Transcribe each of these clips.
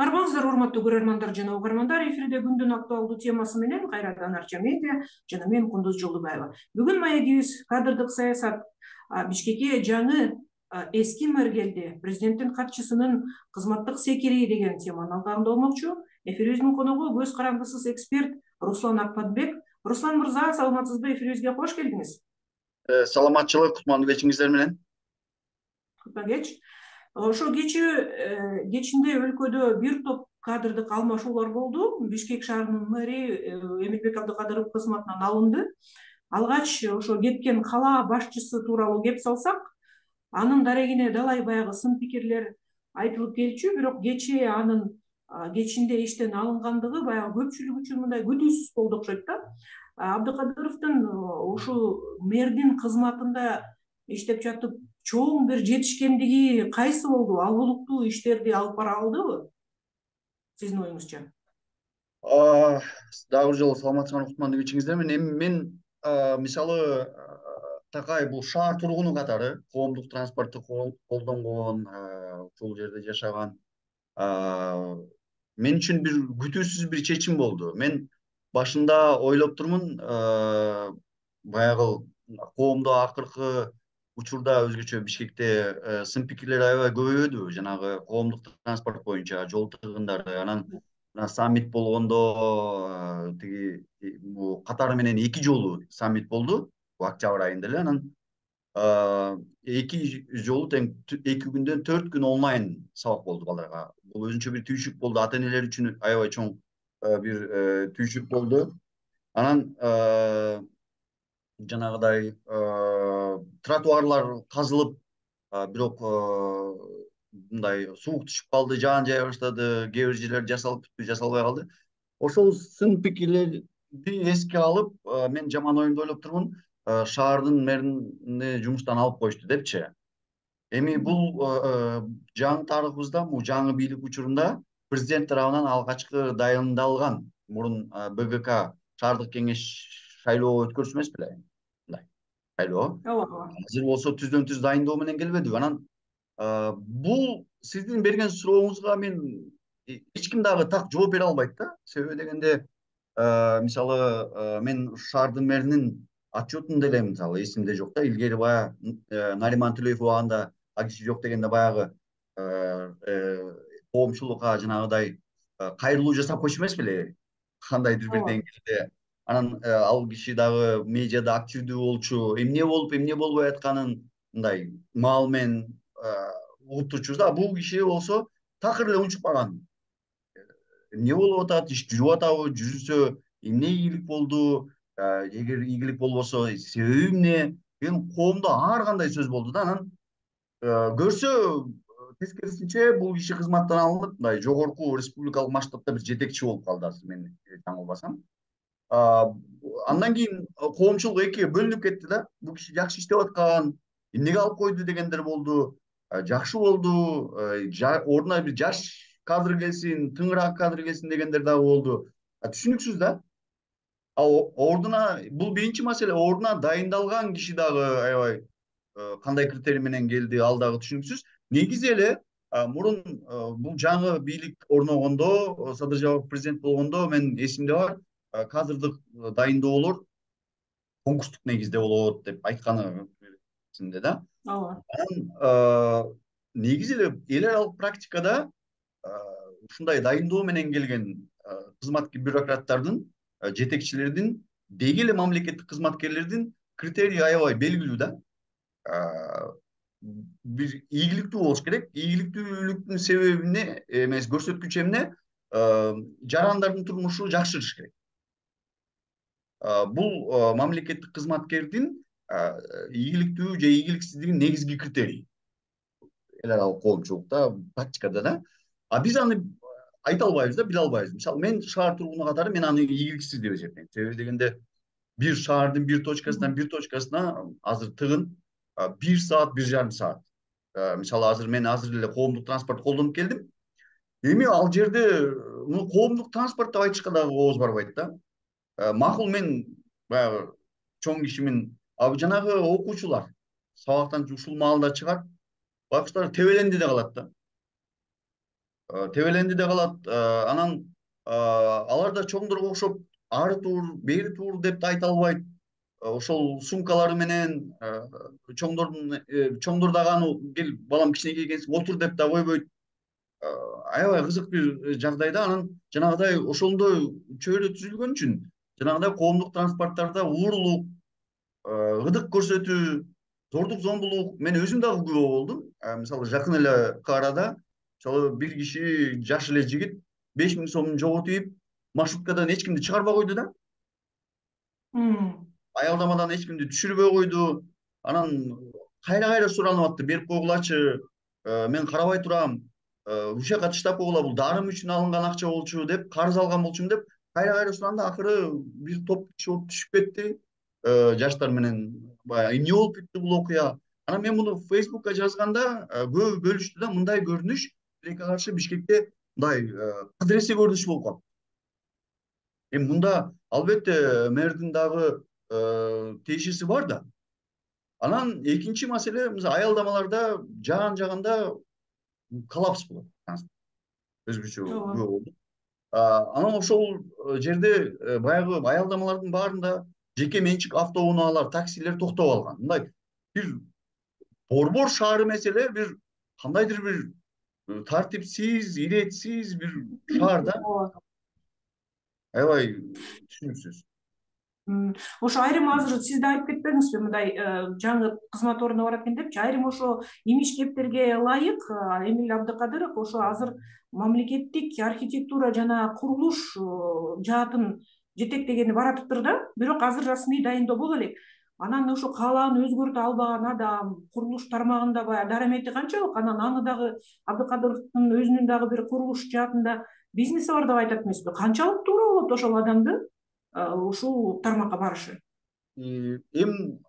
Арбаңыздар урматтуу көрөрмандар жана угармандар, эфирде күндүн актуалдуу темасы менен кайрадан Арча медиа жана мен Кундуз Жолдубаева. Бүгүн маегибиз кадрдык саясат. Бишкекке жаңы эски мэр келди. Президенттин катчысынын кызматтык секири деген теманын алкагында болмокчу. Эфирибиздин коногу көз карандысыз эксперт Руслан Акпатбек. Руслан мырза, саламатсызбы? Эфирибизге кош келдиңиз. Саламатчылык, кутмандуу кечиңиздер менен. Кутман кеч. Ошо кечинде өлкөдө бир топ кадрдык алмашуулар болду. Бишкек шаарынын мэри Эмилбек Абдыкадыров кызматынан алынды. Алгач ошо кеткен кала башчысы тууралуу кеп салсак, анын дарегине далай баягы сын пикирлер айтылып келчү, бирок кечээ анын кечинде иштен алынгандыгы баягы көпчүлүк үчүн мындай күтүүсүз болду окшойт да. Абдыкадыровдун ушул мэрдин кызматында иштеп жатып чоң бир жетишкендиги кайсы болду? Алгылыктуу иштерди алып бара алдыбы? Сиздин оюңузча? Дагы бир жолу саламатсызбы, кутмандуу кечиңиздер менен. Эми мен мисалы такай бул шаар тургуну катары коомдук транспортту колдонгон, ушул жерде жашаган мен үчүн бир күтүүсүз бир чечим болду. Мен башында ойлоп турмун, баягы коомдо акыркы учурда өзгөчө Бишкекте сын пикирлер аябай көбөйбөдүбү? Жанагы коомдук транспорт боюнча жол тыгындары, анан саммит болгондо тиги бул катары менен 2 жолу саммит болду, октябрь айында эле. Анан 2 жолу тең 2 күндөн 4 күн онлайн сабак болду балдарга. Бул өзүнчө бир түйшүк болду, ата энелер үчүн аябай чоң бир түйшүк болду. Анан жанагыдай тротуарлар казылып, бирок мындай суук түшүп калды, жаан жая баштады, кээ бир жерлер жасалып бүттү, жасалбай калды. Ошол сын пикирлерди эске алып, мен жаман оюмду ойлоп турмун, шаардын мэрини жумуштан алып коюшту депчи. Эми бул жаңы тарыхыбызда, бул жаңы бийлик учурунда президент тарабынан алгачкы дайындалган мурун БГК шаардык кеңеш шайлоо өткөрүшү эмес беле? Мындай шайлоо. Ооба. Азыр болсо түздөн түз дайындоо менен келбедиби? Анан бул сиздин берген сурооңузга мен эч ким дагы так жооп бере албайт да. Себеби дегенде мисалы мен шаардын мэринин отчетун деле мисалы эсимде жок да. Илгери баягы Нариман Төлөев убагында ал киши жок дегенде баягы коомчулукка жанагыдай кайрылуу жасап койчу эмес беле? Кандайдыр бир деңгээлде. Анан ал киши дагы медиада активдүү болчу. Эмне болуп, эмне болбой атканын мындай маал менен угуп турчубуз да. Бул киши болсо такыр эле унчукпаган. Эмне болуп атат, иш жүрүп атабы, жүрүсө эмне ийгилик болду, эгер ийгилик болбосо себеби эмне деген коомдо ар кандай сөз болду да. Анан көрсө тескерисинче бул киши кызматтан алынып, мындай жогорку республикалык масштабта бир жетекчи болуп калды, азыр мен жаңылбасам. Андан кийин коомчулук экиге бөлүнүп кетти да. Бул киши жакшы иштеп аткан, эмнеге алып койду дегендер болду. Жакшы болду, ордуна бир жаш кадр келсин, тыңыраак кадр келсин дегендер дагы болду. Түшүнүксүз да. Ордуна бул биринчи маселе, ордуна дайындалган киши дагы аябай кандай критерий менен келди, ал дагы түшүнүксүз. Негизи эле мурун бул жаңы бийлик орногондо, Садыр Жапаров президент болгондо мен эсимде бар, кадрдык дайындоолор конкурстук негизде болот деп айтканы эсимде да. Анан негизи эле эл аралык практикада ушундай дайындоо менен келген бюрократтардын, жетекчилердин, деги эле мамлекеттик кызматкерлердин критерийи аябай белгилүү да. Бир ийгиликтүү болуш керек. Ийгиликтүүлүктүн себеби эмне эмес, көрсөткүчү эмне? Жарандардын турмушу жакшырыш керек. Бул мамлекеттик кызматкердин ийгиликтүү же ийгиликсиздигинин негизги критерийи. Эл аралык коомчулукта, практикада да. Биз аны айта албайбыз да, биле албайбыз. Мисалы, мен шаар тургуну катары мен аны ийгиликсиз деп эсептейм. Себеби дегенде бир шаардын бир точкасынан бир точкасына азыр тыгын 1 саат, 1,5 саат. Мисалы, азыр мен эле коомдук транспорт колдонуп келдим. Эми ал жерде коомдук транспорт деп айтышка дагы ооз барбайт да. Макул, мен баягы чоң кишимин, жанагы окуучулар сабактан ушул маалда чыгат, байкуштар тебеленди да калат да. тебеленди да калат. Анан алар да чоңдорго окшоп ары тур, бери тур деп да айта албайт. Ошол сумкалары менен чоңдор дагы аны кел балам кичинекей экенсиң отур деп да койбойт. Аябай кызык бир жагдайда. Анан жанагыдай ошондой чөйрө түзүлгөн үчүн жанагыдай коомдук транспорттарда уурулук, ырдык көрсөтүү, зордук зомбулук мен өзүм дагы күбө болдум. Мисалы жакын эле арада мисалы бир киши жаш эле жигит 5.000 сомун жоготуп маршруткадан эч кимди чыгарбай койду да. Аялдамадан эч кимди түшүрбөй койду. Анан кайра суранып атты, берип койгулачы, мен карабай турам, ушул жака таштап койгула, бул дарым үчүн алынган акча болчу деп, карыз алган болчумун деп кайра суранды. Акыры бир топ киши болуп түшүп кетти, жаштар менен. Баягы эмне болуп кетти бул окуя. Анан мен муну Facebookка жазганда көбү бөлүштү да, мындай көрүнүш тилекке каршы Бишкекте мындай кыдыресе көрүнүш болуп калды. Эми мында албетте мэрдин дагы тиешеси бар да. Анан экинчи маселе, мисалы аялдамаларда жаганда коллапс болот. Өзгөчө күбө болдук. Анан ошол жерде баягы аялдамалардын баарында жеке менчик автоунаалар, таксилер токтоп алган. Мындай бир борбор шаар эмес эле, бир кандайдыр бир тартипсиз, иретсиз бир шаар да. Аябай түшүнүксүз. Ошо айрым азыр сиз да айтып кетпедиңизби, мындай жаңы кызмат ордуна барат экен депчи, айрым ошо имиш кептерге ылайык Эмиль Абдыкадыров ошо азыр мамлекеттик архитектура жана курулуш жаатын жетектегени баратыптыр да, бирок азыр расмий дайындоо боло элек. Анан ошо каалааны өзгөртө албаган адам курулуш тармагында баягы дарамети канчалык? Анан аны дагы Абдыкадыровдун өзүнүн дагы бир курулуш жаатында бизнеси бар деп айтат эмеспи? Канчалык туура болот ошол адамды ушул тармакка барышы? Эми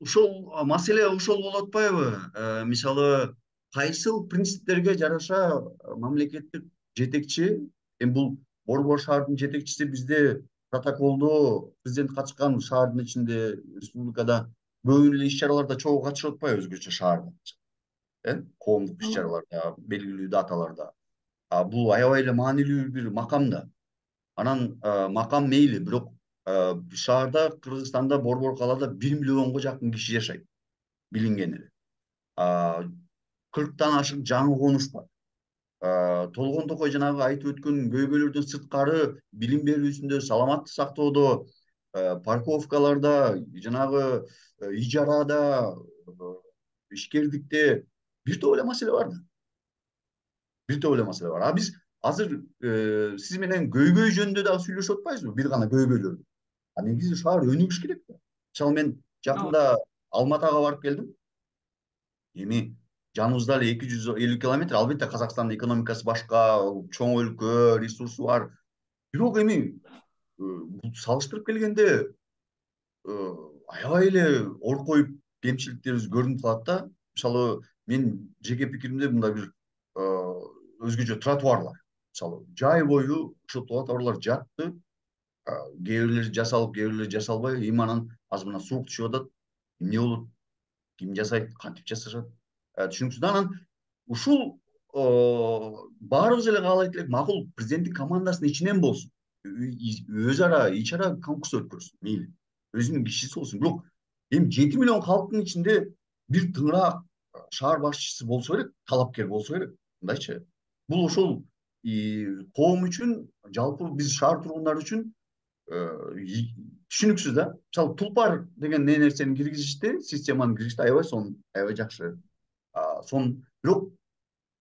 ушул маселе ошол болуп атпайбы? Мисалы кайсыл принциптерге жараша мамлекеттик жетекчи, эми бул борбор шаардын жетекчиси бизде протоколдо президент катышкан шаардын ичинде, республикада көп эле иш-чараларда чогуу катышып атпайбы өзгөчө шаарда? Коомдук иш-чараларда, белгилүү даталарда. Бул аябай эле маанилүү бир макам да. Анан макам мейли, бирок шаарда, Кыргызстанда, борбор каалада 1 миллионго жакын киши жашайт, билинген эле. 40тан ашык жаңы конуш бар. Толгон Токой жанагы айтып өткөн көйгөйлөрдөн сырткары билим берүүсүндө, саламаттык сактоодо, парковкаларда, жанагы ижарада, ишкердикте бир топ эле маселе бар да. Бир топ эле маселе бар. Биз азыр сиз менен көйгөй жөнүндө дагы сүйлөшүп атпайбызбы? Бир гана көйгөйлөр. Негизи шаар өнүгүш керек да. Мисалы мен жакында Алматага барып келдим. Эми жаныбызда эле 250 километр. Албетте Казакстандын экономикасы башка, чоң өлкө, ресурсу бар. Бирок эми салыштырып келгенде аябай эле оркоюп кемчиликтерибиз көрүнүп калат да. Мисалы мен жеке пикиримде мындай бир өзгөчө тротуарлар. Мисалы жай бою ошол тротуарлар жатты. Кээ бирлери жасалып, кээ бирлери жасалбай. Эми анан азыр мына суук түшүп атат. Эмне болот? Ким жасайт? Кантип жасашат? Түшүнүксүз. Анан ушул баарыбыз эле каалайт элек, макул президенттик командасынын ичинен болсун. Өз ара ич-чара конкурс өткөрсүн, мейли. Өзүнүн кишиси болсун. Бирок эми 7 миллион калктын ичинде бир тыңыраак шаар башчысы болсо керек, талапкер болсо керек. Мындайчы. Бул ошол коом үчүн, жалпы биз шаар тургундары үчүн түшүнүксүз да. Мисалы Тулпар деген нерсени киргизишти, системаны киргизишти, аябай сонун, аябай жакшы. Бирок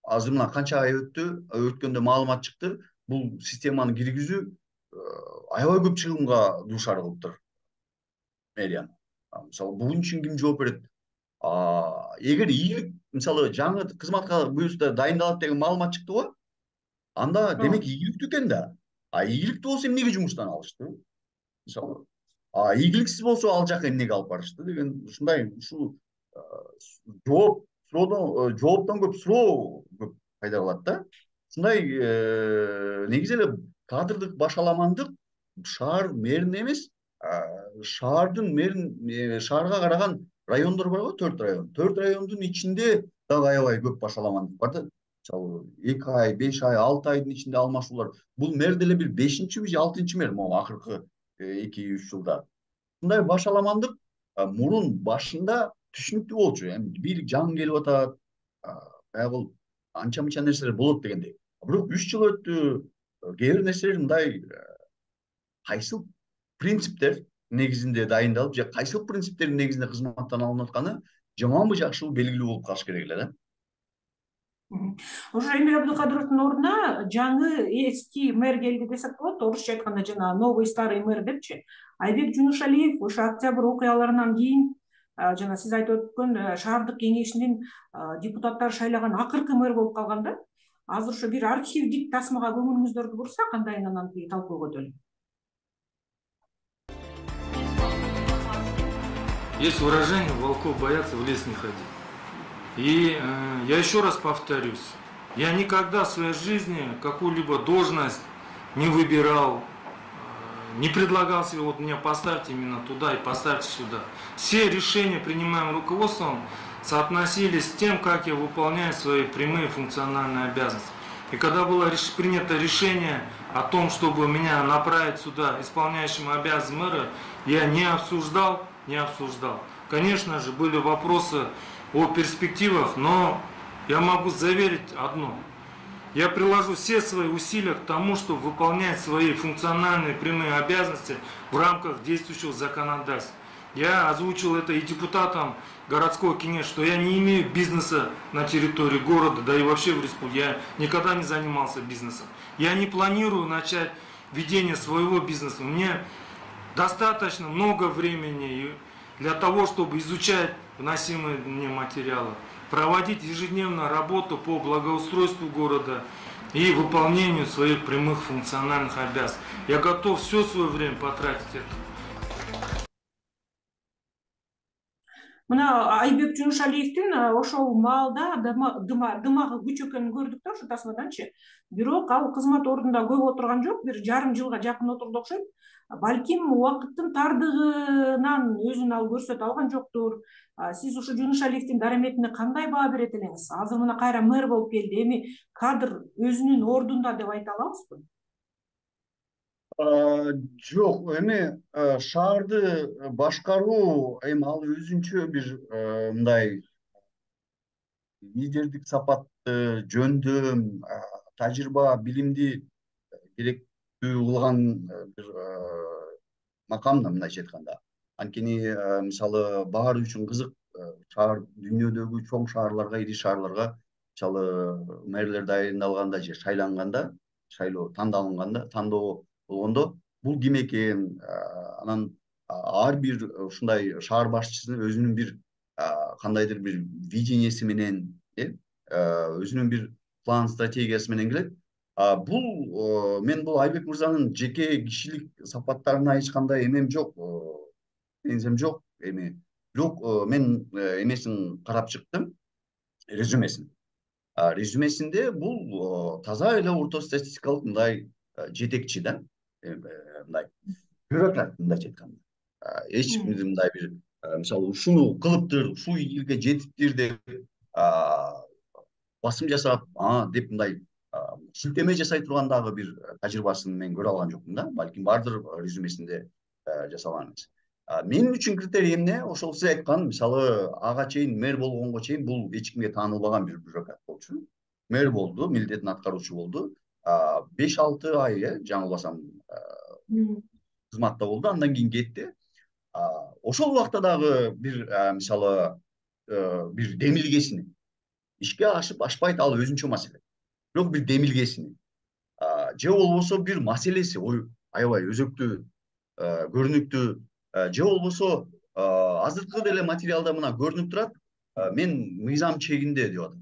азыр мына канча ай өткөндө маалымат чыкты, бул системаны киргизүү аябай көп чыгымга дуушар кылыптыр мэрияны. Мисалы буgun үчүн ким жооп берет? Эгер ийгилик, мисалы жаңы кызматка буюрса дайындалат деген маалымат чыкты го, анда демек ийгиликтүү экен да. Ийгиликтүү болсо эмнеге жумуштан алышты? Мисалы, ийгиликсиз болсо ал жака эмнеге алып барышты деген ушундай ушул жооптон көп суроо көп пайда кылат да. Ушундай негизи эле кадрдык башаламандык шаар мэринин эмес, шаардын мэрин, шаарга караган райондор бар го, 4 район. 4 райондун ичинде дагы аябай көп башаламандык бар да. мисалы 2 ай, 5 ай, 6 айдын ичинде алмашуулар. Бул мэр деле бир 5-чи же 6-чы мэр могу акыркы 2-3 жылда. Мындай башаламандык мурун башында түшүнүктүү болчу. Эми бийлик жаңы келип атат, баягы анча мынча нерселер болот дегендей. Бирок 3 жыл өттү. Кээ бир нерселер мындай кайсыл принциптер негизинде дайындалып же кайсыл принциптердин негизинде кызматтан алынып атканы жаманбы жакшыбы белгилүү болуп калыш керек эле да. Ошо Эмиль Абдыкадыровдун ордуна жаңы эски мэр келди десек болот. Орусча айтканда жана новый старый мэр депчи. Айбек Жунушалиев ошо октябрь окуяларынан кийин жана сиз айтып өткөн шаардык кеңешинин депутаттары шайлаган акыркы мэр болуп калган да. Азыр ошо бир архивдик тасмага көңүлүңүздөрдү бурсак, андайын анан талкууга өтөлү. Есть выражение: волков боятся, в лес не ходить. И я еще раз повторюсь, я никогда в своей жизни какую-либо должность не выбирал, не предлагал себе, вот меня поставьте именно туда и поставьте сюда. Все решения, принимаемые руководством, соотносились с тем, как я выполняю свои прямые функциональные обязанности. И когда было принято решение о том, чтобы меня направить сюда исполняющим обязанности мэра, я не обсуждал. Конечно же, были вопросы о перспективах, но я могу заверить одно. Я приложу все свои усилия к тому, чтобы выполнять свои функциональные прямые обязанности в рамках действующего законодательства. Я озвучил это и депутатам городского кинеса, что я не имею бизнеса на территории города, да и вообще в республике. Я никогда не занимался бизнесом. Я не планирую начать ведение своего бизнеса. Мне достаточно много времени для того, чтобы изучать вносимые мне материалы, проводить ежедневно работу по благоустройству города и выполнению своих прямых функциональных обязанностей. Я готов все свое время потратить это. Мына Айбек Жунушалиевдин ошол маалда дымагы күч экенин көрдүк да, ошо тасмаданчы. Бирок ал кызмат ордунда көп отурган жок, бир жарым жылга жакын отурду окшойт. Балким убакыттын тардыгынан өзүн ал көрсөтө алган жоктур. Сиз ушул Жунушалиевдин дараметине кандай баа берет элеңиз? Азыр мына кайра мэр болуп келди. Эми кадр өзүнүн ордунда деп айта алабызбы? Жок, эми шаарды башкаруу эми ал өзүнчө бир мындай лидердик сапатты, жөндөм, тажрыйба, билимди керектүү кылган бир макам да, мындайча айтканда. Анткени мисалы баары үчүн кызык шаар, дүйнөдөгү чоң шаарларга, ири шаарларга мисалы мэрлер дайындалганда же шайланганда, шайлоо тандоо болгондо бул ким экен, анан ар бир ушундай шаар башчысынын өзүнүн бир кандайдыр бир виденияси менен, өзүнүн бир план стратегиясы менен келет. Мен бул Айбек мырзанын жеке кишилик сапаттарына эч кандай эмем жок, претензиям жок эми. Бирок мен эмесин карап чыктым, резюмесин. Резюмесинде бул таза эле орто статистикалык мындай жетекчи да, мындай бюрократ, мындайча айтканда. Эч кимдин мындай бир мисалы ушуну кылыптыр, ушул жерге жетиптир деп басым жасап, деп мындай шилтеме жасай турган дагы бир тажрыйбасын мен көрө алган жокмун да. Балким бардыр резюмесинде жасалган эмес. Менин үчүн критерий эмне? Ошол сиз айткан, мисалы ага чейин мэр болгонго чейин бул эч кимге таанылбаган бир бюрократ болчу. Мэр болду, милдетин аткаруучу болду. 5-6 ай, жаңылбасам, кызматта болду, андан кийин кетти. Ошол убакта дагы бир мисалы бир демилгесини ишке ашып ашпайт, ал өзүнчө маселе. Бирок бир демилгесини же болбосо бир маселеси аябай өзөктүү, көрүнүктүү, же болбосо азыркы деле материалда мына көрүнүп турат, мен мыйзам чегинде деп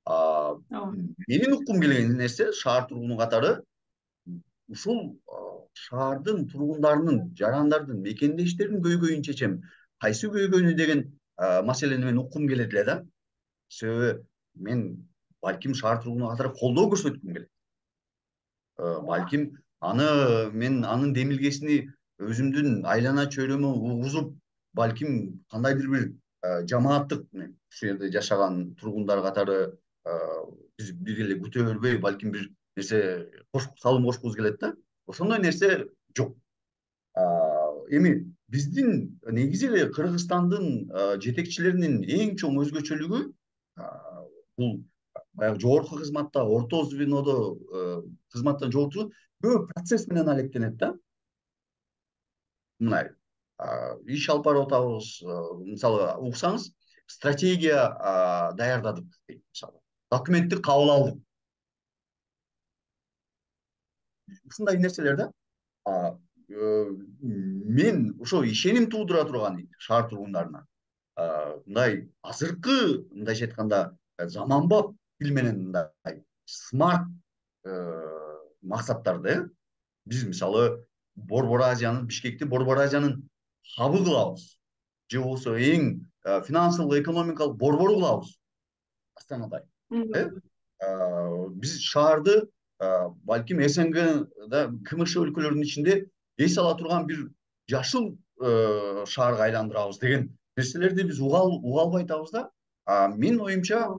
атам. Менин уккум келген нерсе, шаар тургуну катары ушул шаардын тургундарынын, жарандардын мекендештеринин көйгөйүн чечем. Кайсы көйгөйнү деген маселени мен уккум келет эле да. Себеби мен балким шаар тургуну катары колдоо көрсөткүм келет. Балким мен анын демилгесини өзүмдүн айлана чөйрөмө угузуп, балким кандайдыр бир жамааттык, ушул жерде жашаган тургундар катары биз бир эле күтө бербей, балким бир нерсе салым кошкубуз келет да. Ошондой нерсе жок. Эми биздин негизи эле Кыргызстандын жетекчилеринин эң чоң өзгөчөлүгү бул баягы жогорку кызматта, орто звенодо кызматтан жогорку көп процесс менен алектенет да. Мындай иш алып барып атабыз, мисалы уксаңыз, стратегия даярдадык дейт, мисалы документти кабыл алдык. Ушундай нерселер да. Мен ошо ишеним туудура турган шаар тургундарына мындай азыркы, мындайча айтканда, заманбап тил менен мындай смарт максаттарды биз мисалы Борбор Азиянын, Бишкекти Борбор Азиянын хабы кылабыз, же болбосо эң финансылык экономикалык борбору кылабыз Астанада. Биз шаарды балким СНГда КМШ өлкөлөрүнүн ичинде эс ала турган бир жашыл шаарга айландырабыз деген нерселерди биз уга албай атабыз да. Менин оюмча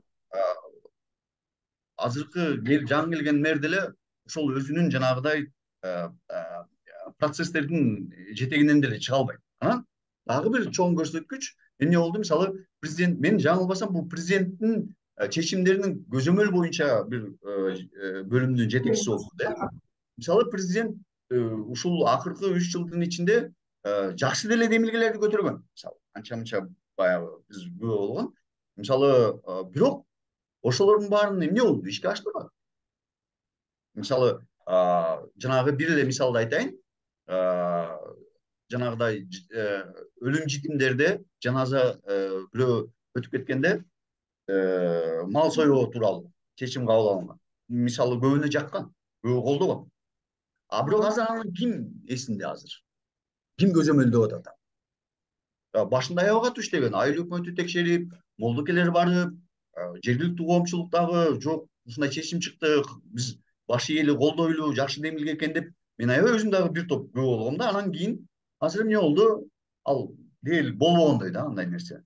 азыркы жаңы келген мэр деле ошол өзүнүн жанагыдай процесстердин жетегинен деле чыга албайт. Анан дагы бир чоң көрсөткүч эмне болду? Мисалы президент, мен жаңылбасам, бул президенттин чечимдеринин көзөмөл боюнча бир бөлүмдүн жетекчиси болду да. Мисалы президент ушул акыркы 3 жылдын ичинде жакшы деле демилгелерди көтөргөн. Мисалы анча-мынча баягы биз күбө болгон. Мисалы бирок ошолордун баарын эмне болду? Ишке ашпаган. Мисалы жанагы бир эле мисалды айтайын. Жанагыдай өлүм житимдерде жаназа бирөө өтүп кеткенде мал союу тууралуу чечим кабыл алынган. Мисалы көбүнө жаккан, көбү колдогон. Бирок азыр анын ким эсинде азыр? Ким көзөмөлдөп атат? Башында аябай иштеген, айыл өкмөтү текшерип, молдокелер барып, жергиликтүү коомчулуктагы жок, ушундай чечим чыкты, биз баш ийели колдойлу, жакшы демилге экен деп, мен аябай өзүм дагы бир топ күбө болгом да. Анан кийин азыр эмне болду? Ал дел болбогондой да андай нерсе.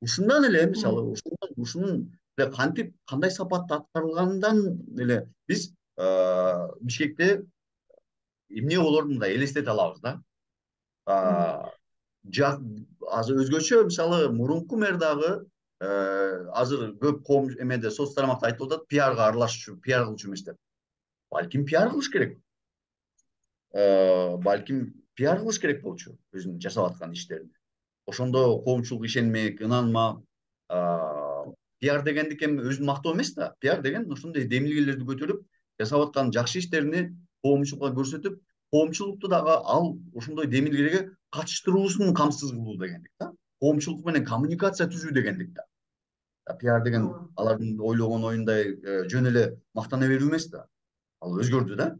Ушундан эле мисалы ушунун кантип, кандай сапатта аткарылгандан эле биз Бишкекте эмне болорун мындай элестете алабыз да. Азыр өзгөчө, мисалы мурунку мэр дагы азыр көп коом эмеде соц тарамакта айтып атат, пиарга аралашчу, пиар кылчу эмес деп. Балким пиар кылыш керек. Балким пиар кылыш керек болчу өзүнүн жасап аткан иштерин. Ошондо коомчулук ишенмек, ынанмак. Пиар дегендик эми өзүн мактоо эмес да. Пиар деген ошондой демилгелерди көтөрүп, жасап аткан жакшы иштерини коомчулукка көрсөтүп, коомчулукту дагы ал ошондой демилгелерге катыштыруусун камсыз кылуу дегендик да. Коомчулук менен коммуникация түзүү дегендик да. Пиар деген алардын ойлогон оюндай жөн эле мактана берүү эмес да. Ал өзгөрдү да.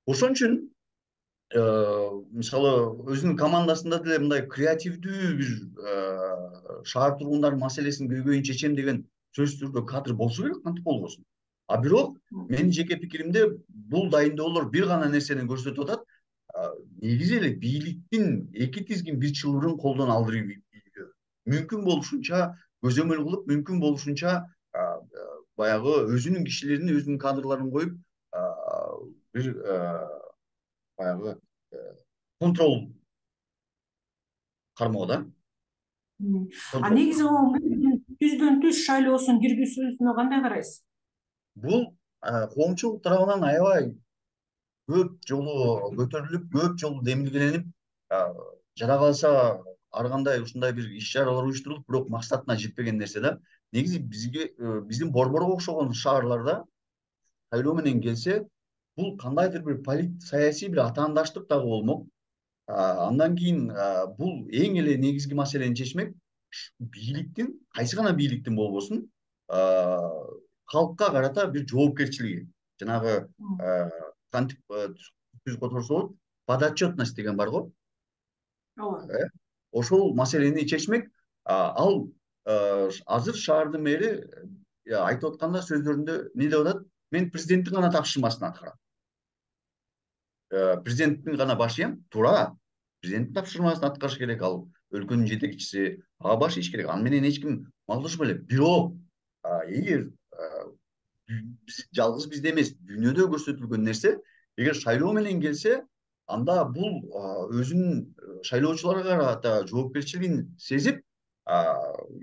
Ошон үчүн мисалы өзүнүн командасында деле мындай креативдүү бир шаар тургундарынын маселесин көйгөйүн чечем деген сөзсүз түрдө кадр болсо керек, кантип болбосун. Бирок менин жеке пикиримде бул дайындоолор бир гана нерсени көрсөтүп атат. Негизи эле бийликтин эки тизгин бир чылбырын колдон алдырып ийүү. Мүмкүн болушунча көзөмөл кылып, мүмкүн болушунча баягы өзүнүн кишилерин, өзүнүн кадрларын коюп, бир баягы контрол кармоо да. Негизи түздөн түз шайлоосун киргизүүсүнө кандай карайсыз? Бул коомчулук тарабынан аябай көп жолу көтөрүлүп, көп жолу демилгеленип, жада калса ар кандай ушундай бир иш-чаралар уюштурулуп, бирок максатына жетпеген нерсе да. Негизи бизге, биздин Борборго окшогон шаарларда шайлоо менен келсе, бул кандайдыр бир саясий бир атаандаштык дагы болмок. Андан кийин бул эң эле негизги маселени чечмек, бийликтин, кайсы гана бийликтин болбосун, калкка карата бир жоопкерчилиги. Жанагы кантип түз которсо болот, подотчетность деген бар го. Ошол маселени чечмек, ал азыр шаардын мэри айтып атканда сөздөрүндө эмне деп атат? Мен президенттин гана тапшырмасын аткарам. Президенттин гана баш ийем, туура. Президенттин тапшырмасын аткарыш керек, ал өлкөнүн жетекчиси, ага баш ийиш керек. Аны менен эч ким малдашпай элек. Бирок эгер жалгыз бизде эмес, дүйнөдө көрсөтүлгөн нерсе. Эгер шайлоо менен келсе, анда бул өзүнүн шайлоочуларга карата жоопкерчилигин сезип,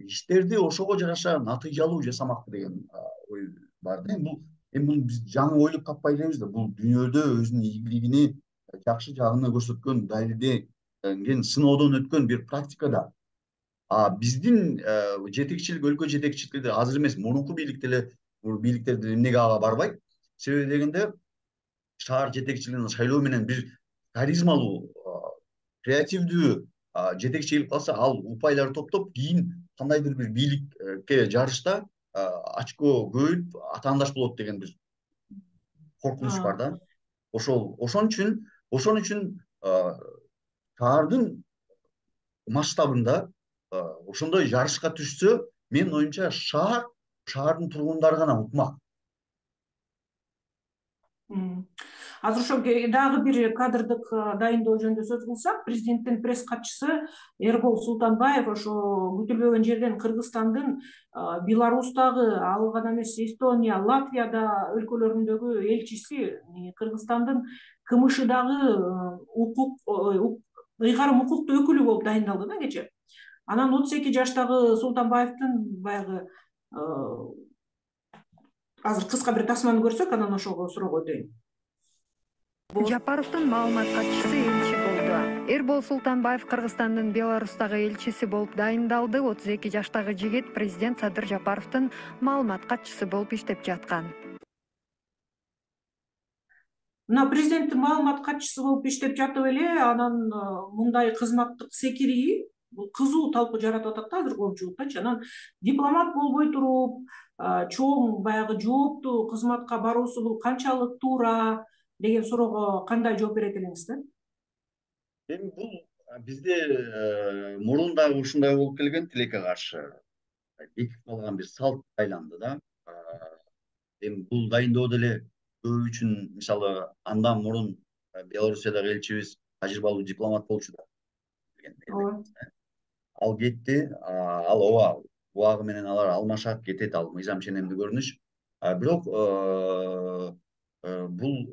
иштерди ошого жараша натыйжалуу жасамак деген ой бар да. Бул биз жаңы ойлоп таппай элебиз да. Бул дүйнөдө өзүнүн ийгилигини, жакшы жагын көрсөткөн, далилденген, сыноодон өткөн бир практика да. Биздин жетекчилик, өлкө жетекчиликтери азыр эмес, мурунку бийликтер деле эмнеге ага барбайт? Себеби дегенде, шаар жетекчилигинин шайлоо менен бир харизмалуу, креативдүү жетекчи келип калса, ал упайларды топтоп, кийин кандайдыр бир бийликке жарышта очко көбөйүп атаандаш болот деген бир коркунуч бар да. Ошон үчүн шаардын масштабында ошондой жарышка түшсө, менин оюмча шаардын тургундары гана утмак. Азыр ошо дагы бир кадрдык дайындоо жөнүндө сөз кылсак, президенттин пресс катчысы Эрбол Султанбаев ошо күтүлбөгөн жерден Кыргызстандын Беларустагы, ал гана эмес Эстония, Латвияда өлкөлөрүндөгү элчиси, Кыргызстандын КМШдагы ыйгарым укуктуу өкүлү болуп дайындалды да кече. Анан 32 жаштагы Султанбаевдин баягы азыр кыска бир тасманы көрсөк, анан ошого суроого өтөйүн. Жапаровдун маалымат катчысы элчи болду. Эрбол Султанбаев Кыргызстандын Беларустагы элчиси болуп дайындалды. 32 жаштагы жигит президент Садыр Жапаровдун маалымат катчысы болуп иштеп жаткан. Мына президенттин маалымат катчысы болуп иштеп жатып эле, анан мындай кызматтык секирии бул кызуу талкуу жаратып атат да азыр коомчулуктачы. Анан дипломат болбой туруп, чоң баягы жооптуу кызматка баруусу бул канчалык туура деген суроого кандай жооп берет элеңиз? Эми бул бизде мурун дагы ушундай болуп келген, тилекке каршы бекип калган бир салт айланды да. Эми бул дайындоо деле көбү үчүн, мисалы, андан мурун Белоруссиядагы элчибиз тажрыйбалуу дипломат болчу да. Ал кетти, ал убагы менен алар алмашат, кетет, ал мыйзам ченемдүү көрүнүш. Бирок бул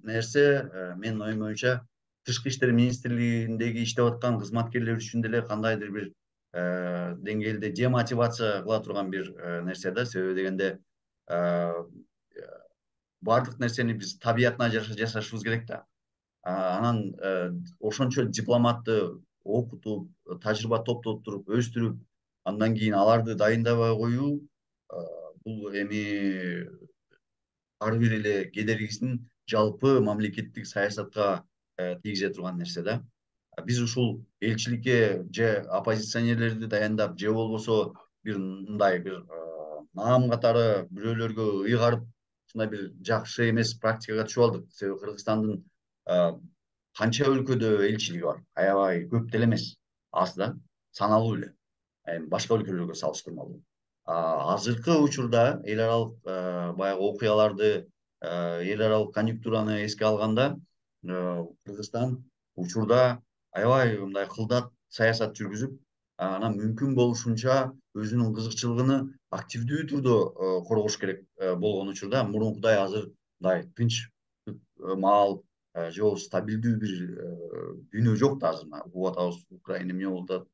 нерсе менин оюм боюнча Тышкы иштер министрлигиндеги иштеп аткан кызматкерлер үчүн деле кандайдыр бир деңгээлде демотивация кыла турган бир нерсе да. Себеби дегенде баардык нерсени биз табиятына жараша жасашыбыз керек да. Анан ошончо дипломатты окутуп, тажрыйба топтоп туруп, өстүрүп, андан кийин аларды дайындабай коюу бул эми ар бир эле кедергисин жалпы мамлекеттик саясатка тийгизе турган нерсе да. Биз ушул элчиликке же оппозиционерлерди дайындап, же болбосо бир мындай бир наам катары бирөөлөргө ыйгарып, ушундай бир жакшы эмес практикага түшүп алдык. Себеби Кыргызстандын канча өлкөдө элчилиги бар? Аябай көп деле эмес, аз да, саналуу эле. Башка өлкөлөргө салыштырмалуу. Азыркы учурда эл аралык баягы окуяларды, эл аралык конъюнктураны эске алганда, Кыргызстан учурда аябай мындай кылдат саясат жүргүзүп, анан мүмкүн болушунча өзүнүн кызыкчылыгын активдүү түрдө коргош керек болгон учурда, мурункудай азыр мындай тынч маал же болбосо стабилдүү бир дүйнө жок да. Азыр угуп атабыз, Украина эмне болуп атат,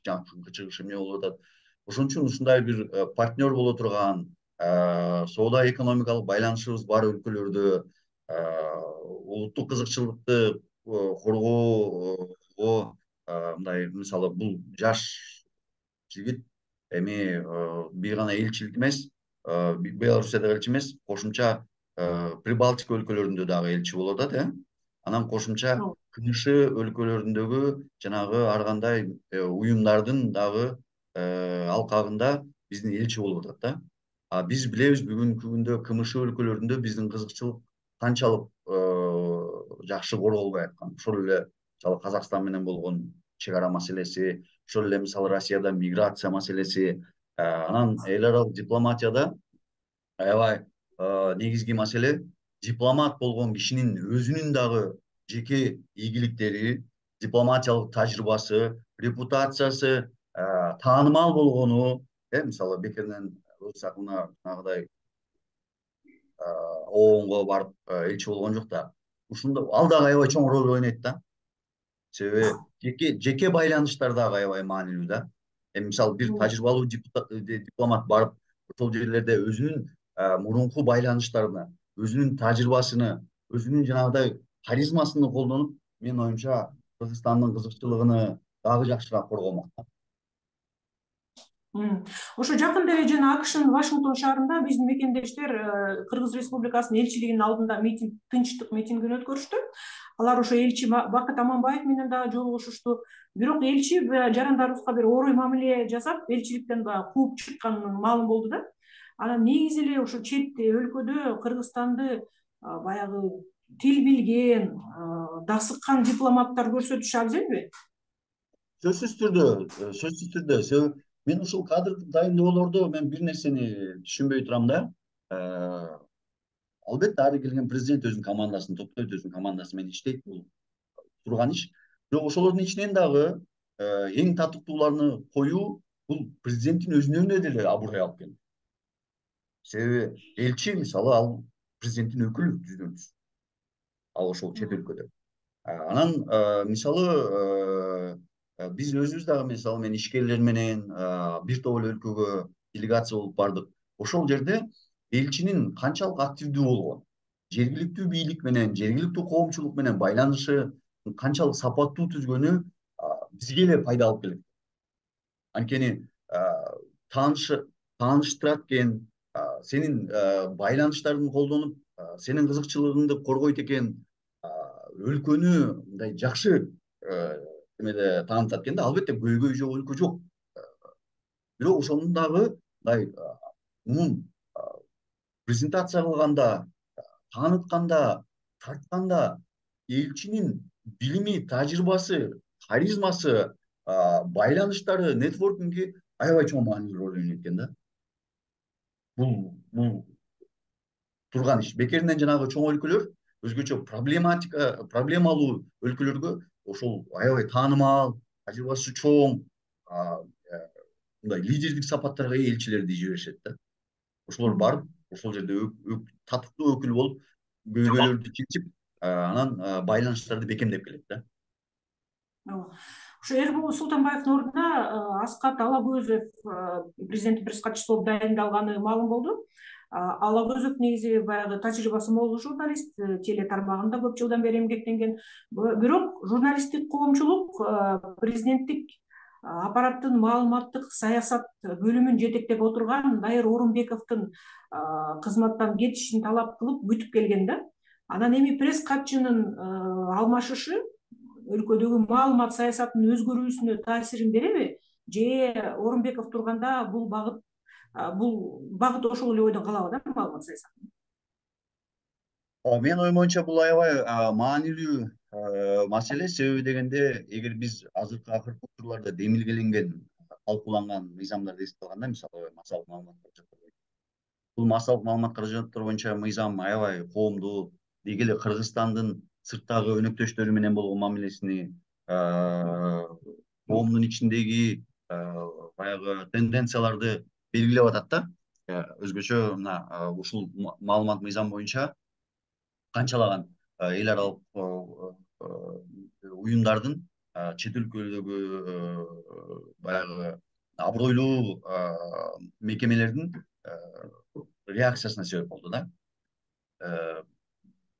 жакынкы чыгыш эмне болуп атат. Ошон үчүн ушундай бир партнер боло турган, соода экономикалык байланышыбыз бар өлкөлөрдө улуттук кызыкчылыкты коргоого, мындай, мисалы, бул жаш жигит эми бир гана элчилик эмес, Белоруссиядагы элчи эмес, кошумча Прибалтика өлкөлөрүндө дагы элчи болуп атат, анан кошумча КНШ өлкөлөрүндөгү жанагы ар кандай уюмдардын дагы алкагында биздин элчи болуп атат да. Биз билебиз бүгүнкү күндө КМШ өлкөлөрүндө биздин кызыкчылык канчалык жакшы корголбой аткан. Ошол эле мисалы Казакстан менен болгон чек ара маселеси, ошол эле мисалы Россияда миграция маселеси, анан эл аралык дипломатияда аябай негизги маселе дипломат болгон кишинин өзүнүн дагы жеке ийгиликтери, дипломатиялык тажрыйбасы, репутациясы таанымал болгону, мисалы бекеринен Рус акына жанагыдай ООНго барып элчи болгон жок да. Ушундо ал дагы аябай чоң роль ойнойт да. Себеби жеке байланыштар дагы аябай маанилүү да. Эми мисалы бир тажрыйбалуу дипломат барып ошол жерлерде өзүнүн мурунку байланыштарына, өзүнүн тажрыйбасыны, өзүнүн жанагыдай харизмасын колдонуп, менин оюмча Кыргызстандын кызыкчылыгын дагы жакшыраак коргомок. Ошо жакында эле жана АКШнын Вашингтон шаарында биздин мекендештер Кыргыз Республикасынын элчилигинин алдында тынчтык митингин өткөрүштү. Алар ошо элчи Бакыт Аманбаев менен дагы жолугушушту. Бирок элчи жарандарыбызга бир орой мамиле жасап, элчиликтен баягы кууп чыкканы маалым болду да. Анан негизи эле ошо чет өлкөдө Кыргызстанды баягы тил билген, дасыккан дипломаттар көрсөтүшү абзелби? Сөзсүз түрдө. Себеби мен ушул кадрдык дайындоолордо мен бир нерсени түшүнбөй турам да. Албетте ары келген президент өзүнүн командасын топтойт, өзүнүн командасы менен иштейт, бул турган иш. Бирок ошолордун ичинен дагы эң татыктууларыны коюу бул президенттин өзүнө деле абурой алып келди. Себеби элчи мисалы ал президенттин өкүлү жүздөн-жүз. Ал ошол чет өлкөдө. Анан мисалы биз өзүбүз дагы мисалы мен ишкерлер менен бир топ эле өлкөгө делегация болуп бардык. Ошол жерде элчинин канчалык активдүү болгон, жергиликтүү бийлик менен, жергиликтүү коомчулук менен байланышы канчалык сапаттуу түзгөнү бизге эле пайда алып келет. Анткени тааныштырат экен, сенин байланыштарыңды колдонуп, сенин кызыкчылыгыңды коргойт экен, өлкөнү мындай жакшы эмеде таанытат экен да. Албетте көйгөй жок өлкө жок. Бирок ошонун дагы мындай мунун презентация кылганда, таанытканда, тартканда элчинин билими, тажрыйбасы, харизмасы, байланыштары, нетворкинги аябай чоң маанилүү роль ойнойт экен да. Бул турган иш. Бекеринен жанагы чоң өлкөлөр өзгөчө проблемалуу өлкөлөргө ошол аябай таанымал, тажрыйбасы чоң, мындай лидердик сапаттарга ээ элчилерди жиберишет да. Ошолор барып, ошол жерде татыктуу өкүл болуп, көйгөйлөрдү чечип, анан байланыштарды бекемдеп келет да. Ошо Эрбол Султанбаевдин ордуна Аскат Алагөзов президенттик пресс катчысы болуп дайындалганы маалым болду. Алагөзов негизи баягы тажрыйбасы мол журналист, теле тармагында көп жылдан бери эмгектенген. Бирок журналисттик коомчулук президенттик аппараттын маалыматтык саясат бөлүмүн жетектеп отурган Дайыр Орунбековдун кызматтан кетишин талап кылып күтүп келген да. Анан эми пресс катчынын алмашышы өлкөдөгү маалымат саясатынын өзгөрүүсүнө таасирин береби, же Орунбеков турганда бул багыт ошол эле ойдон калабы да маалымат саясаты? Менин оюм боюнча бул аябай маанилүү маселе. Себеби дегенде, эгер биз акыркы учурларда демилгеленген, талкууланган мыйзамдарды эске алганда, мисалы массалык маалымат каражаттары, бул массалык маалымат каражаттары боюнча мыйзам аябай коомдуу, деги эле Кыргызстандын сырттагы өнөктөштөрү менен болгон мамилесини, коомдун ичиндеги баягы тенденцияларды белгилеп атат да. Өзгөчө мына ушул маалымат мыйзам боюнча канчалаган эл аралык уюмдардын чет өлкөлөрдөгү баягы абройлуу мекемелердин реакциясына себеп болду да.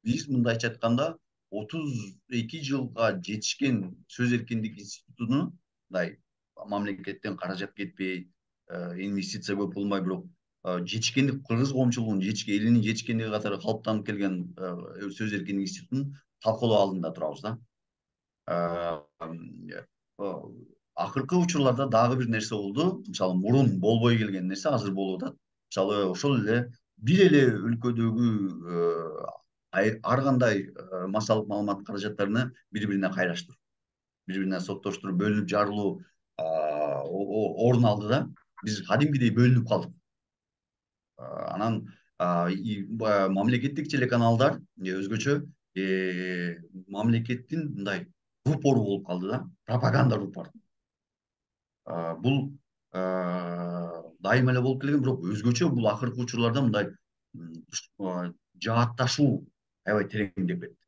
Биз мындайча айтканда 32 жылга жетишкен сөз эркиндиги институтуну мындай мамлекеттен каражат кетпей, инвестиция көп болмой, бирок жетишкендик кыргыз коомчулугунун элинин жетишкендиги катары калыптанып келген сөз эркиндиги институтун талкуулоо алдында турабыз да. Акыркы учурларда дагы бир нерсе болду. Мисалы мурун болбой келген нерсе азыр болуп атат. Мисалы ошол эле бир эле өлкөдөгү ар кандай массалык маалымат каражаттарыны бири-бирине кайраштыруу, бири-бирине соттоштуруп, бөлүнүп жарылуу орун алды да. Биз кадимкидей бөлүнүп калдык. Анан мамлекеттик телеканалдар өзгөчө мамлекеттин мындай рупору болуп калды да, пропаганда рупору. Бул дайыма эле болуп келген, бирок өзгөчө бул акыркы учурларда мындай жаатташуу аябай тереңдеп кетти.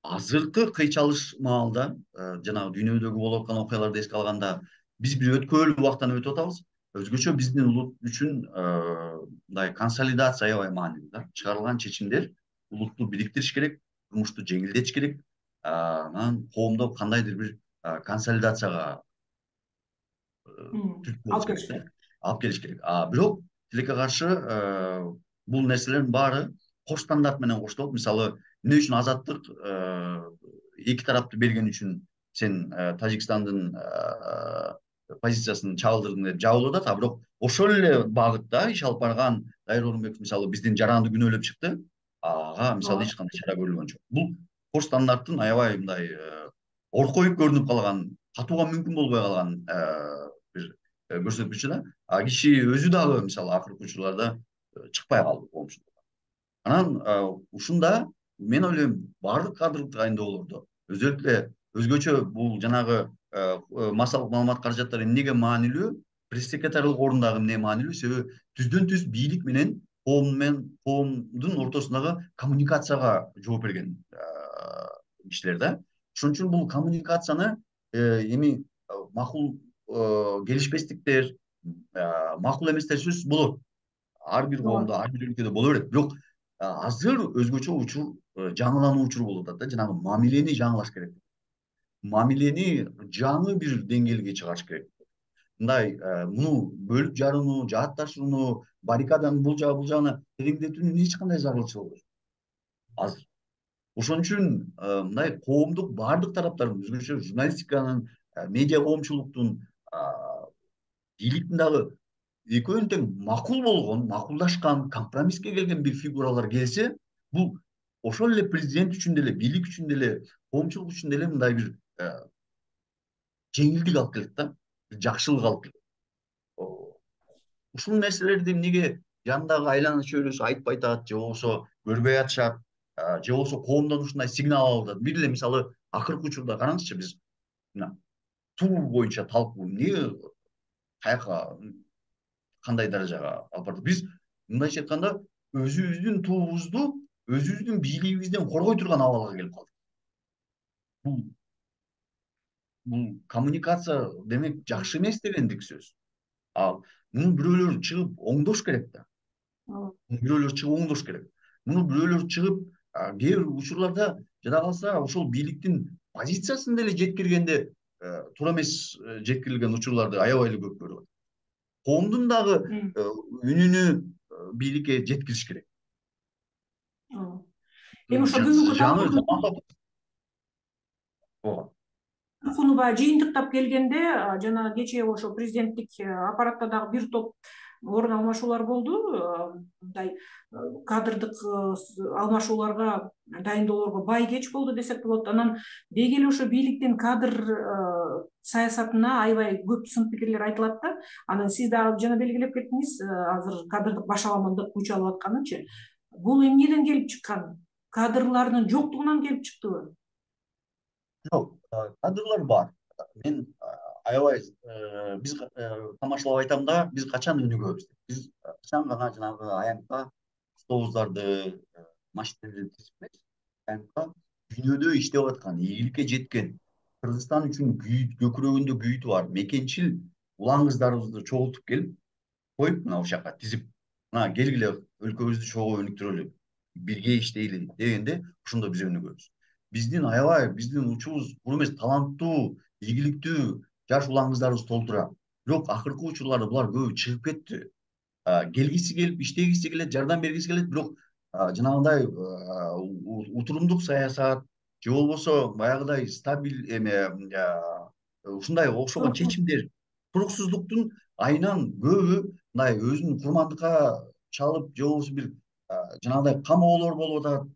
Азыркы кыйчалыш маалда жанагы дүйнөдөгү болуп аткан окуяларды эске алганда биз бир өткөөлүү убактан өтүп атабыз. Өзгөчө биздин улут үчүн мындай консолидация аябай маанилүү да. Чыгарылган чечимдер улутту бириктириш керек, жумушту жеңилдетиш керек, анан коомдо кандайдыр бир консолидацияга түрткү болуш керек да, алып келиш керек. Бирок тилекке каршы бул нерселердин баары кош стандарт менен коштолот. Мисалы, эмне үчүн азаттык эки тарапты берген үчүн сен Тажикстандын позициясын чагылдырдың деп жабылып атат, бирок ошол эле багытта иш алып барган Дайыр Орунбеков мисалы биздин жаранды күнөөлөп чыкты. Ага мисалы эч кандай чара көрүлгөн жок. Бул кош стандарттын аябай мындай оркоюп көрүнүп калган, катууга мүмкүн болбой калган бир көрсөткүчү да. Киши өзү дагы мисалы акыркы учурларда чыкпай калды коомчулукка. Анан ушунда мен ойлойм баардык кадрлык тагайындоолордо өзгөчө бул жанагы массалык маалымат каражаттары эмнеге маанилүү, пресс секретарлык орундагы эмне маанилүү? Себеби түздөн түз бийлик менен коомдун ортосундагы коммуникацияга жооп берген кишилер да. Ошон үчүн бул коммуникацияны эми макул келишпестиктер, макул эместер сөзсүз болот. Ар бир коомдо, ар бир өлкөдө боло берет. Бирок азыр өзгөчө учур, жаңылануу учуру болуп атат да. Жанагы мамилени жаңылаш керек. Мамилени жаңы бир деңгээлге чыгарыш керек. Мындай муну бөлүп жарууну, жаатташууну, баррикаданы бул жагына тереңдетүүнүн эч кандай зарылчылыгы жок азыр. Ошон үчүн мындай коомдук баардык тараптардын, өзгөчө журналистиканын, медиа коомчулуктун, бийликтин дагы экөөнүн тең макул болгон, макулдашкан, компромисске келген бир фигуралар келсе, бул ошол эле президент үчүн деле, бийлик үчүн деле, коомчулук үчүн деле мындай бир жеңилдик алып келет да, бир жакшылык алып келет. Ушул нерселерди эмнеге жандагы айлана чөйрөсү айтпай атат, же болбосо көрбөй атышат, же болбосо коомдон ушундай сигнал алып атат. Бир эле мисалы акыркы учурда караңызчы, биз туу боюнча талкуу эмне, каяка, кандай даражага алып бардык? Биз мындайча айтканда өзүбүздүн туубузду өзүбүздүн бийлигибизден коргой турган абалга келип калдык. Бул коммуникация демек жакшы эмес дегендик сөз. Муну бирөөлөр чыгып оңдош керек да. Муну бирөөлөр чыгып кээ бир учурларда жада калса ошол бийликтин позициясын деле жеткиргенде туура эмес жеткирилген учурларды аябай эле көп көрүп атат. Коомдун дагы үнүнү бийликке жеткириш керек. Эми ошо бүгүнкү талкууну баягы жыйынтыктап келгенде, жана кечээ ошо президенттик аппаратта дагы бир топ орун алмашуулар болду. Мындай кадрдык алмашууларга дайындоолорго бай кеч болду десек болот. Анан деги эле ошо бийликтин кадр саясатына аябай көп сын пикирлер айтылат да. Анан сиз дагы жана белгилеп кеттиңиз, азыр кадрдык башаламандык кучалып атканынчы. Бул эмнеден келип чыккан? Кадрлардын жоктугунан келип чыктыбы? Жок, кадрлар бар. Мен аябай биз тамашалап айтам да, биз качан өнүгөбүз деп. Биз качан гана жанагы аянтка автобустарды, машиналарды тизип эмес, аянтка дүйнөдө иштеп аткан, ийгиликке жеткен, Кыргызстан үчүн көкүрөгүндө күйүтү бар мекенчил улан кыздарыбызды чогултуп келип, коюп мына ошол жака тизип, мына келгиле өлкөбүздү чогуу өнүктүрөлү, бирге иштейли дегенде ошондо биз өнүгөбүз. Биздин учубуз кур эмес, таланттуу, ийгиликтүү жаш улан кыздарыбыз толтура. Бирок акыркы учурларда булар көбү чыгып кетти. Келгиси келип, иштегиси келет, жардам бергиси келет, бирок жанагындай утурумдук саясат же болбосо баягыдай ушундай окшогон чечимдер, туруксуздуктун айынан көбү мындай өзүн курмандыкка чалып же болбосо бир жанагындай камоолор болуп атат.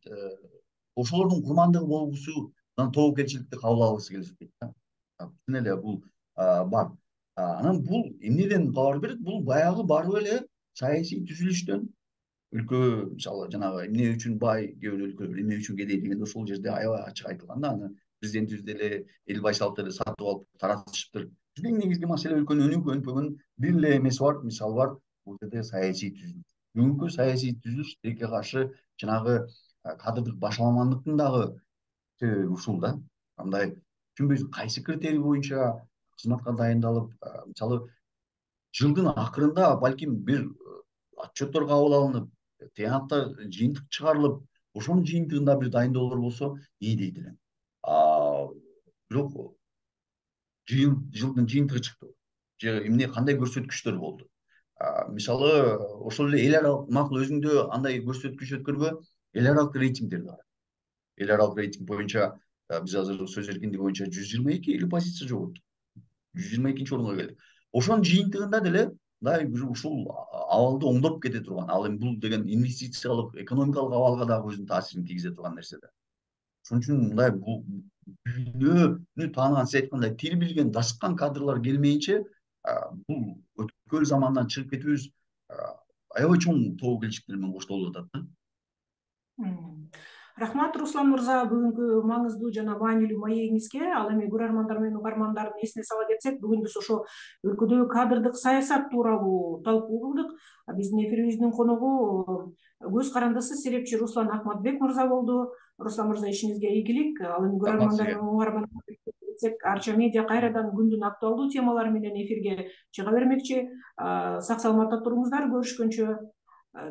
Ошолордун курмандыгы болгусудан тобокелчиликти кабыл алгысы келишпейт да. Чын эле бул бар. Анан бул эмнеден кабар берет? Бул баягы барып эле саясий түзүлүштөн, өлкө мисалы жанагы эмне үчүн бай кээ бир өлкөлөр, эмне үчүн кедей дегенде ошол жерде аябай ачык айтылган да. Аны президентибиз деле эл байшалып деле сатып алып таратышыптыр. Биздин негизги маселе өлкөнүн өнүгүп өнүкпөгөн бир эле эмеси бар, мисалы бар. Бул жерде саясий түзүлүш. бүгүнкү саясий түзүлүш тилекке каршы жанагы кадрдык башаламандыктын дагы себеби ушул да. Андай түшүнбөйсүң кайсы критерий боюнча кызматка дайындалып, мисалы жылдын акырында балким бир отчеттор кабыл алынып, тыянактар жыйынтык чыгарылып, ошонун жыйынтыгында бир дайындоолор болсо ии дейт элем. Бирок жылдын жыйынтыгы чыкты. Же эмне кандай көрсөткүчтөр болду? Мисалы ошол эле эл аралык макул өзүңдө андай көрсөткүч өткөргө, эл аралык рейтингдер бар. Эл аралык рейтинг боюнча биз азыр сөз эркиндиги боюнча 122 элүү позиция жоготтук. 122 орунга келдик. Ошонун жыйынтыгында деле мындай бир ушул абалды оңдоп кете турган. Ал эми бул деген инвестициялык, экономикалык абалга дагы өзүнүн таасирин тийгизе турган нерсе да. Ошон үчүн мындай бул дүйнөнү тааниган, сиз айткандай тил билген, дашыккан кадрлар келмейинче бул өткөл замандан чыгып кетүүбүз аябай чоң тобокелчиликтер менен коштолуп атат да. Рахмат, Руслан мырза, бүгүнкү маңыздуу жана маанилүү маегиңизге. Ал эми көрөрмандар менен угармандардын эсине сала кетсек, бүгүн биз ошо өлкөдөгү кадрдык саясат тууралуу талкуу кылдык. Биздин эфирибиздин коногу көз карандысы серепчи Руслан Акматбек мырза болду. Руслан мырза, ишиңизге ийгилик. Ал эми көрөрмандар менен угармандар Арча медиа кайрадан күндүн актуалдуу темалары менен эфирге чыга бермекчи. Сак саламатта туруңуздар, көрүшкөнчө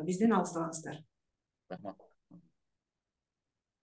бизден алыстабаңыздар. Рахмат.